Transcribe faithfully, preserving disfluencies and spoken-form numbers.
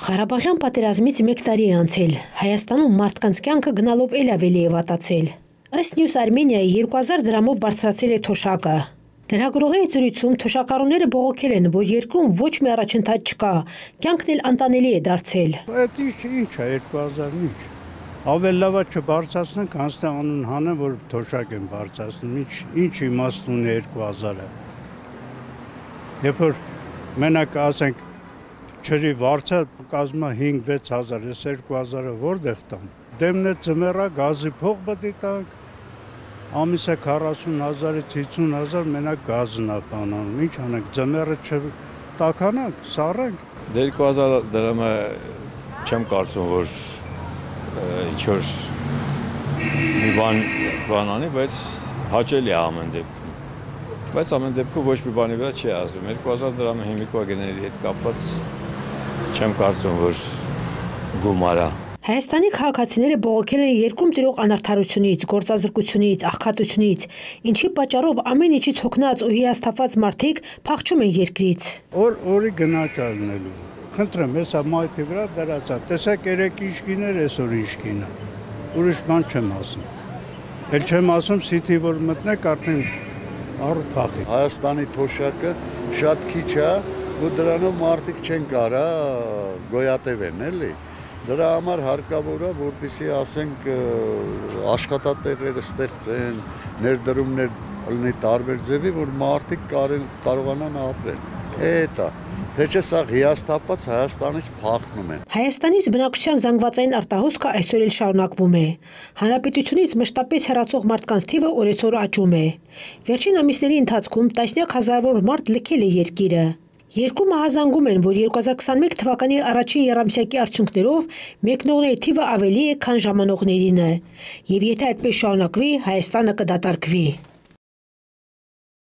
Ղարաբաղյան պատերազմից մեկ տարի է անցել, Հայաստանում մարդկանց կյանքը գնալով էլ ավելի է վատացել։ Ըստ News Armenia-ի երկու հազար դրամով բարձրացել է թոշակը։ Լրագրողի հետ զրույցում թոշակառուները բողոքել են, որ երկրում ոչ մի առաջընթաց չկա, կյանքն էլ անտանելի է դարձել։ Այդ ինչ է երկու հազարն ինչ։ Ավելի լավ է չբարձրացնենք, հանց անուն հանեն, որ թոշակ են բարձրացնում, ինչ ինչ իմաստ ունի երկու հազարը։ Երբ որ մենակ ասենք չրի վարձը կազմա հինգ-վեց հազար, ես երկու հազարը որտեղ տամ։ Դեմն է ձմեռա, գազի փող պետք է տանք, ամիսը քառասուն հազարից հիսուն հազար մենակ գազն է բանանում, ինչ անենք, ձմեռը չտաքանանք, սառենք։ Երկու հազար դրամը չեմ կարծում, որ ինչ-որ մի բան բան անի, բայց հաճելի է ամեն դեպքում։ Բայց ամեն դեպքում ոչ մի բանի վրա չի ազդում, երկու հազար դրամը հիմիկվա գների հետ կապված չեմ կարծում, որ գումար է։ Հայաստանի քաղաքացիները բողոքել են երկրում տիրող անարդարությունից, գործազրկությունից, աղքատությունից, ինչի պատճառով ամեն ինչից հոգնած ու հիասթափված մարդիկ փախչում են երկրից։ Օր օրի գնաճ ալնելու։ Խնդրեմ, հեսա մայթի վրա դրացա, տեսեք երեք ինչ գիներ, այսօր ինչ գինը։ Ուրիշ բան չեմ ասում։ Էլ չեմ ասում սիթի որ մտնեք արդեն առու փախի։ Հայաստանի թոշակը շատ քիչ է, ու դրանով մարդիկ չեն կարա գոյատևեն, էլի։ Դրա համար հարկավոր է, որպեսզի ասենք աշխատատեղեր ստեղծեն, ներդրումներ լինի տարբեր ձևի, որ մարդիկ կարողանան ապրել։ Էդ է։ Թե չէ սա հիասթափված Հայաստանից փախնում են։ Հայաստանից բնակչության զանգվածային արտահոսքը այսօր էլ շարունակվում է։ Հանրապետությունից մշտապես հեռացող մարդկանց թիվը օրեցօր աճում է։ Վերջին ամիսների ընթացքում տասնյակ հազարավոր մարդ լքել է երկիրը։ Երկու մահազանգում են, որ երկու հազար քսաներկու թվականի առաջին եռամսյակի արդյունքներով մեկնողների թիվը ավելի է, քան ժամանողներինը։ Եվ եթե այդպես շարունակվի, Հայաստանը կդատարկվի։